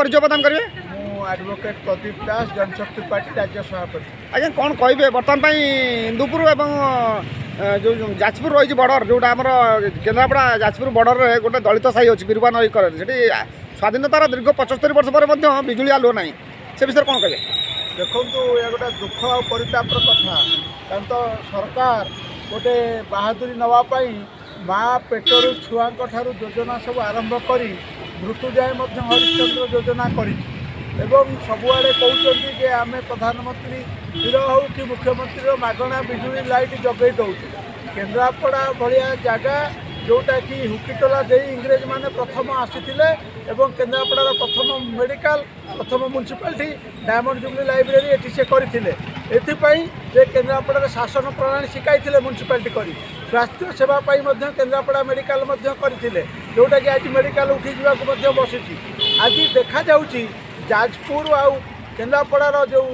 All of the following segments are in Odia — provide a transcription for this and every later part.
ପରିଚୟ ପ୍ରଦାନ କରିବେ। ମୁଁ ଆଡଭୋକେଟ୍ ପ୍ରଦୀପ ଦାସ, ଜନଶକ୍ତି ପାର୍ଟି ରାଜ୍ୟ ସଭାପତି। ଆଜ୍ଞା, କ'ଣ କହିବେ ବର୍ତ୍ତମାନ ପାଇଁ ଇନ୍ଦୁପୁର ଏବଂ ଯେଉଁ ଯାଜପୁର ରହିଛି ବର୍ଡ଼ର, ଯେଉଁଟା ଆମର କେନ୍ଦ୍ରାପଡ଼ା ଯାଜପୁର ବର୍ଡ଼ରରେ ଗୋଟେ ଦଳିତ ସାହି ଅଛି ବିରୁବା ନଈ କରରେ, ସେଠି ସ୍ୱାଧୀନତାର ଦୀର୍ଘ 75 ବର୍ଷ ପରେ ମଧ୍ୟ ବିଜୁଳି ଆଲୁଅ ନାହିଁ, ସେ ବିଷୟରେ କ'ଣ କହିବେ? ଦେଖନ୍ତୁ, ଏହା ଗୋଟେ ଦୁଃଖ ଆଉ ପରିତାପର କଥା। କାରଣ ତ ସରକାର ଗୋଟେ ବାହାଦୁରୀ ନେବା ପାଇଁ ମା ପେଟରୁ ଛୁଆଙ୍କ ଠାରୁ ଯୋଜନା ସବୁ ଆରମ୍ଭ କରି ମୃତ୍ୟୁ ଯାଏଁ ମଧ୍ୟ ହରିଶ୍ଚନ୍ଦ୍ର ଯୋଜନା କରିଛି ଏବଂ ସବୁଆଡ଼େ କହୁଛନ୍ତି ଯେ ଆମେ ପ୍ରଧାନମନ୍ତ୍ରୀର ହେଉ କି ମୁଖ୍ୟମନ୍ତ୍ରୀର ମାଗଣା ବିଜୁଳି ଲାଇଟ୍ ଯୋଗାଇ ଦେଉଛୁ। କେନ୍ଦ୍ରାପଡ଼ା ଭଳିଆ ଜାଗା, ଯେଉଁଟାକି ହୁକିଟୋଲା ଦେଇ ଇଂରେଜମାନେ ପ୍ରଥମ ଆସିଥିଲେ ଏବଂ କେନ୍ଦ୍ରାପଡ଼ାର ପ୍ରଥମ ମେଡ଼ିକାଲ, ପ୍ରଥମ ମ୍ୟୁନିସିପାଲିଟି, ଡାଇମଣ୍ଡ ଜୁବଲି ଲାଇବ୍ରେରୀ ଏଠି ସେ କରିଥିଲେ। ଏଥିପାଇଁ ଯେ କେନ୍ଦ୍ରାପଡ଼ାରେ ଶାସନ ପ୍ରଣାଳୀ ଶିଖାଇଥିଲେ ମ୍ୟୁନିସିପାଲିଟି କରି, ସ୍ୱାସ୍ଥ୍ୟ ସେବା ପାଇଁ ମଧ୍ୟ କେନ୍ଦ୍ରାପଡ଼ା ମେଡ଼ିକାଲ ମଧ୍ୟ କରିଥିଲେ, ଯେଉଁଟାକି ଆଜି ମେଡ଼ିକାଲ ଉଠିଯିବାକୁ ମଧ୍ୟ ବସିଛି। ଆଜି ଦେଖାଯାଉଛି ଯାଜପୁର ଆଉ କେନ୍ଦ୍ରାପଡ଼ାର ଯେଉଁ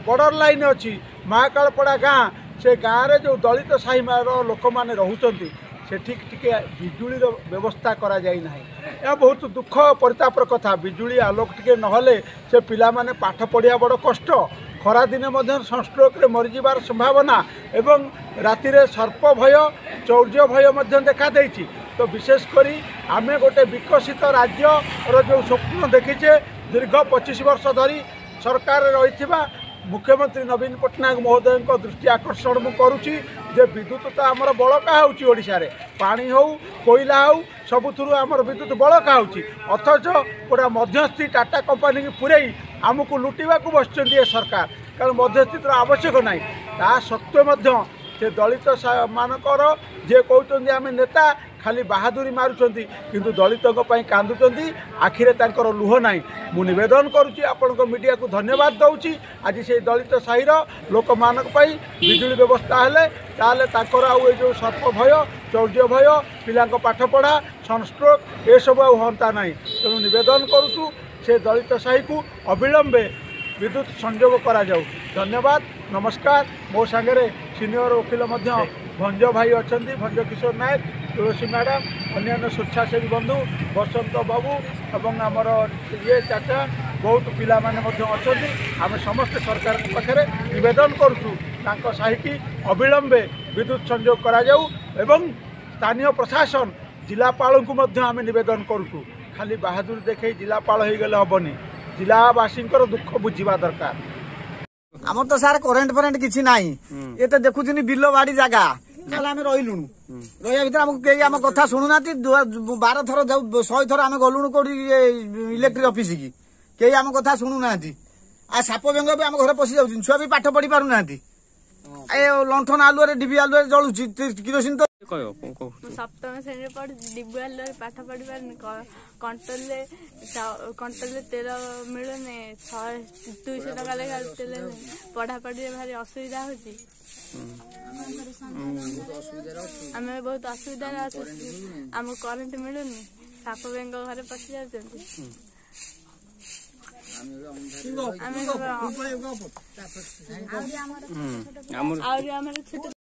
ବର୍ଡ଼ର ଲାଇନ୍ ଅଛି ମହାକାଳପଡ଼ା ଗାଁ, ସେ ଗାଁରେ ଯେଉଁ ଦଳିତ ସାହିର ଲୋକମାନେ ରହୁଛନ୍ତି, ସେଠି ଟିକେ ବିଜୁଳିର ବ୍ୟବସ୍ଥା କରାଯାଇ ନାହିଁ। ଏହା ବହୁତ ଦୁଃଖ ପରିତାପର କଥା। ବିଜୁଳି ଆଲୋକ ଟିକେ ନହେଲେ ସେ ପିଲାମାନେ ପାଠ ପଢ଼ିବା ବଡ଼ କଷ୍ଟ। ଖରାଦିନେ ମଧ୍ୟ ସନଷ୍ଟ୍ରୋକ୍ରେ ମରିଯିବାର ସମ୍ଭାବନା ଏବଂ ରାତିରେ ସର୍ପ ଭୟ, ଚୌର୍ଯ୍ୟ ଭୟ ମଧ୍ୟ ଦେଖାଦେଇଛି। ତ ବିଶେଷ କରି ଆମେ ଗୋଟେ ବିକଶିତ ରାଜ୍ୟର ଯେଉଁ ସ୍ୱପ୍ନ ଦେଖିଛେ, ଦୀର୍ଘ 25 ବର୍ଷ ଧରି ସରକାରରେ ରହିଥିବା ମୁଖ୍ୟମନ୍ତ୍ରୀ ନବୀନ ପଟ୍ଟନାୟକ ମହୋଦୟଙ୍କ ଦୃଷ୍ଟି ଆକର୍ଷଣ ମୁଁ କରୁଛି ଯେ ବିଦ୍ୟୁତ ତ ଆମର ବଳକା ହେଉଛି ଓଡ଼ିଶାରେ, ପାଣି ହେଉ, କୋଇଲା ହେଉ, ସବୁଥିରୁ ଆମର ବିଦ୍ୟୁତ ବଳକା ହେଉଛି। ଅଥଚ ଗୋଟେ ମଧ୍ୟସ୍ଥି ଟାଟା କମ୍ପାନୀକି ପୂରେଇ ଆମକୁ ଲୁଟିବାକୁ ବସିଛନ୍ତି ଏ ସରକାର। କାରଣ ମଧ୍ୟସ୍ଥିର ଆବଶ୍ୟକ ନାହିଁ। ତା ସତ୍ତ୍ୱେ ମଧ୍ୟ ସେ ଦଳିତ ମାନଙ୍କର ଯିଏ କହୁଛନ୍ତି ଆମେ ନେତା, ଖାଲି ବାହାଦୁରୀ ମାରୁଛନ୍ତି, କିନ୍ତୁ ଦଳିତଙ୍କ ପାଇଁ କାନ୍ଦୁଛନ୍ତି, ଆଖିରେ ତାଙ୍କର ଲୁହ ନାହିଁ। ମୁଁ ନିବେଦନ କରୁଛି, ଆପଣଙ୍କ ମିଡ଼ିଆକୁ ଧନ୍ୟବାଦ ଦେଉଛି, ଆଜି ସେଇ ଦଳିତ ସାହିର ଲୋକମାନଙ୍କ ପାଇଁ ବିଜୁଳି ବ୍ୟବସ୍ଥା ହେଲେ ତାହେଲେ ତାଙ୍କର ଆଉ ଏ ଯେଉଁ ସର୍ପ ଭୟ, ଚୌର୍ଯ୍ୟ ଭୟ, ପିଲାଙ୍କ ପାଠପଢ଼ା, ସନଷ୍ଟ୍ରୋକ୍ ଏସବୁ ଆଉ ହୁଅନ୍ତା ନାହିଁ। ତେଣୁ ନିବେଦନ କରୁଛୁ, ସେ ଦଳିତ ସାହିକୁ ଅବିଳମ୍ବେ ବିଦ୍ୟୁତ ସଂଯୋଗ କରାଯାଉ। ଧନ୍ୟବାଦ, ନମସ୍କାର। ମୋ ସାଙ୍ଗରେ ସିନିୟର ଓକିଲ ମଧ୍ୟ ଭଞ୍ଜ ଭାଇ ଅଛନ୍ତି, ଭଞ୍ଜ କିଶୋର ନାୟକ, ତୁଳସୀ ମ୍ୟାଡ଼ାମ୍, ଅନ୍ୟାନ୍ୟ ସ୍ୱେଚ୍ଛାସେବୀ ବନ୍ଧୁ ବସନ୍ତ ବାବୁ ଏବଂ ଆମର ଇଏ ଚାଚା, ବହୁତ ପିଲାମାନେ ମଧ୍ୟ ଅଛନ୍ତି। ଆମେ ସମସ୍ତେ ସରକାରଙ୍କ ପାଖରେ ନିବେଦନ କରୁଛୁ, ତାଙ୍କ ସାହିକି ଅବିଳମ୍ବେ ବିଦ୍ୟୁତ ସଂଯୋଗ କରାଯାଉ ଏବଂ ସ୍ଥାନୀୟ ପ୍ରଶାସନ ଜିଲ୍ଲାପାଳଙ୍କୁ ମଧ୍ୟ ଆମେ ନିବେଦନ କରୁଛୁ। ଖାଲି ବାହାଦୁରୀ ଦେଖେଇ ଜିଲ୍ଲାପାଳ ହେଇଗଲେ ହେବନି, ଜିଲ୍ଲାବାସୀଙ୍କର ଦୁଃଖ ବୁଝିବା ଦରକାର। ଆମର ତ ସାର୍ କରେଣ୍ଟ ଫରେଣ୍ଟ କିଛି ନାହିଁ। ଏ ତ ଦେଖୁଛନ୍ତି ବିଲ ବାଡି ଜାଗା, ତାହେଲେ ଆମେ ରହିଲୁଣୁ। ରହିବା ଭିତରେ ଆମକୁ କେହି ଆମ କଥା ଶୁଣୁନାହାନ୍ତି। 12 ଥର, 100 ଥର ଆମେ ଗଲୁଣୁ କୋଉଠି ଇଲେକ୍ଟ୍ରିକ ଅଫିସ କି, କେହି ଆମ କଥା ଶୁଣୁନାହାନ୍ତି। ଆଉ ସାପ ବେଙ୍ଗ ବି ଆମ ଘରେ ପଶି ଯାଉଛନ୍ତି, ଛୁଆ ବି ପାଠ ପଢି ପାରୁନାହାନ୍ତି। ଏ ଲଣ୍ଠନ ଆଲୁଅରେ, ଡିବି ଆଲୁଅରେ ଜଳୁଛି, କିରୋସିନ ତ। ମୁଁ ସପ୍ତମ ଶ୍ରେଣୀରେ ପଢୁଛି। ଡିବି ଆଲୁଅରେ ପାଠ ପଢି ପାରୁନି। କଣ୍ଟ୍ରୋଲରେ ତେଲ ମିଳୁନି, 100 200 ଟଙ୍କା ଲେଖା ତେଲ। ପଢାପଢିରେ ଭାରି ଅସୁବିଧା ହଉଛି। ଆମେ ବହୁତ ଅସୁବିଧାରେ ଅଛୁ। ଆମକୁ କରେଣ୍ଟ ମିଳୁନି, ସାପ ବେଙ୍ଗ ଘରେ ପଶି ଯାଉଛନ୍ତି। ଆମେ ଆହୁରି ଆମର ଛୋଟ